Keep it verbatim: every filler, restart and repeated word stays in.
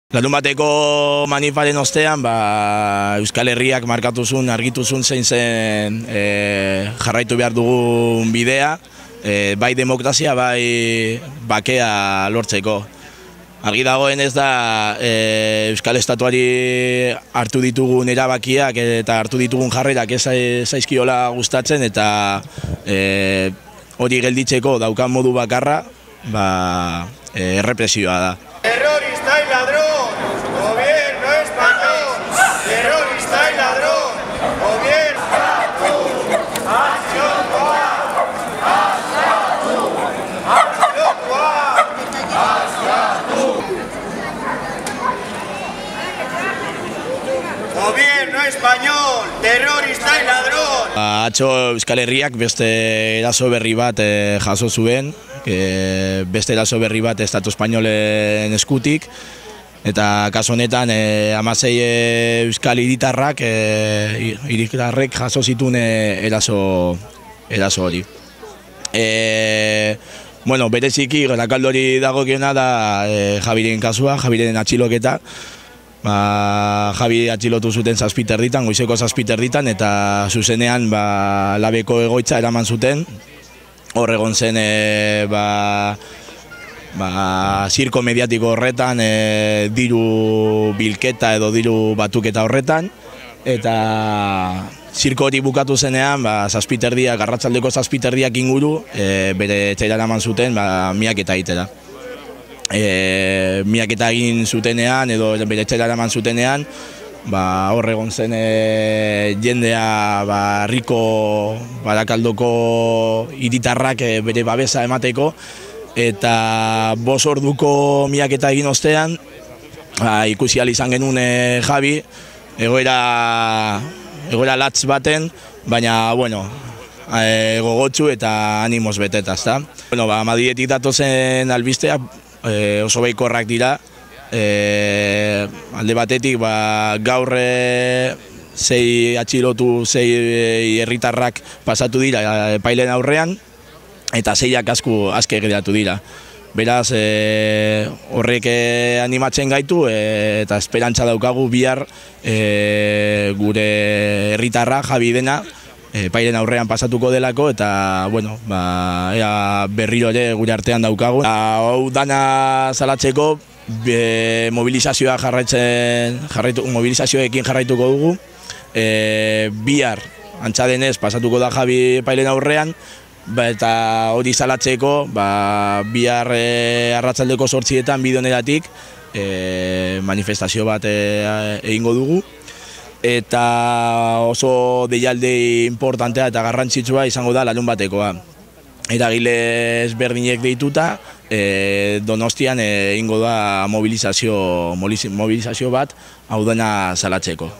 Larunbateko manifaren ostean, ba, Euskal Herriak markatu zuen, argitu zuen zein zen e, jarraitu behar dugun bidea, e, bai demokrazia, bai bakea lortzeko. Argi dagoen ez da e, Euskal Estatuari hartu ditugun erabakiak eta hartu ditugun jarrerak ez zaizkiola gustatzen, eta e, hori gelditzeko daukan modu bakarra ba, e, errepresioa da. Terrorista y ladrón, gobierno español. Terrorista y ladrón, gobierno. Acción Coa, acción Coa. Gobierno español, terrorista y ladrón. Atzo Euskal Herriak beste eraso berri bat e, jaso zuen, e, beste eraso berri bat Estatu Espainolen eskutik, eta kasu honetan e, hamasei Euskal hiritarrak e, hiritarrek jaso zituen e, eraso, eraso hori. E, bueno, bereziki Garakaldori dagokiona da e, Javiren kasua, Javiren atxiloketa. Ba, Javi atxilotu zuten zazpiter ditan, goizeko zazpiter ditan, eta zuzenean ba, labeko egoitza eraman zuten. Hor egon zen e, ba, ba, zirko mediatiko horretan, e, diru bilketa edo diru batuketa horretan, eta zirko hori bukatu zenean, ba, zazpiterdiak, arratsaldeko zazpiterdiak inguru, e, bere etxera eraman zuten, ba, miaketa egitera. E, miaketa egin zutenean edo bere etxera eraman zutenean, ba, hor egon zen e, jendea ba, Riko Barakaldoko hiritarrak e, bere babesa emateko, eta bost orduko miaketa egin ostean ba, ikusi ahal izan genuen e, Javi egoera, egoera latz baten, baina bueno, e, gogotsu eta animoz beteta, ezta? Bueno, ba, Madriletik datozen albisteak E, oso baikorrak dira, e, alde batetik ba, gaur e, sei atxilotu, sei herritarrak pasatu dira epaileen aurrean, eta seiak asko aske geratu dira. Beraz, e, horrek e, animatzen gaitu e, eta esperantza daukagu bihar e, gure herritarra Javi dena epaileen aurrean pasatuko delako, eta bueno, ba, ea berriro ere gure artean daukagu. Hau dana salatzeko be, mobilizazioa jarraitzen, jarraitu, mobilizazioekin jarraituko dugu. E, bihar, antza denez, pasatuko da Javi epaileen aurrean, ba, eta hori salatzeko ba, bihar e, arratsaldeko zortzietan bidoneratik e, manifestazio bat e, egingo dugu. Eta oso deialde importantea eta garrantzitsua izango da larunbatekoa. Eragile ezberdinek deituta, e, Donostian egingo da mobilizazio, mobilizazio bat hau dena salatzeko.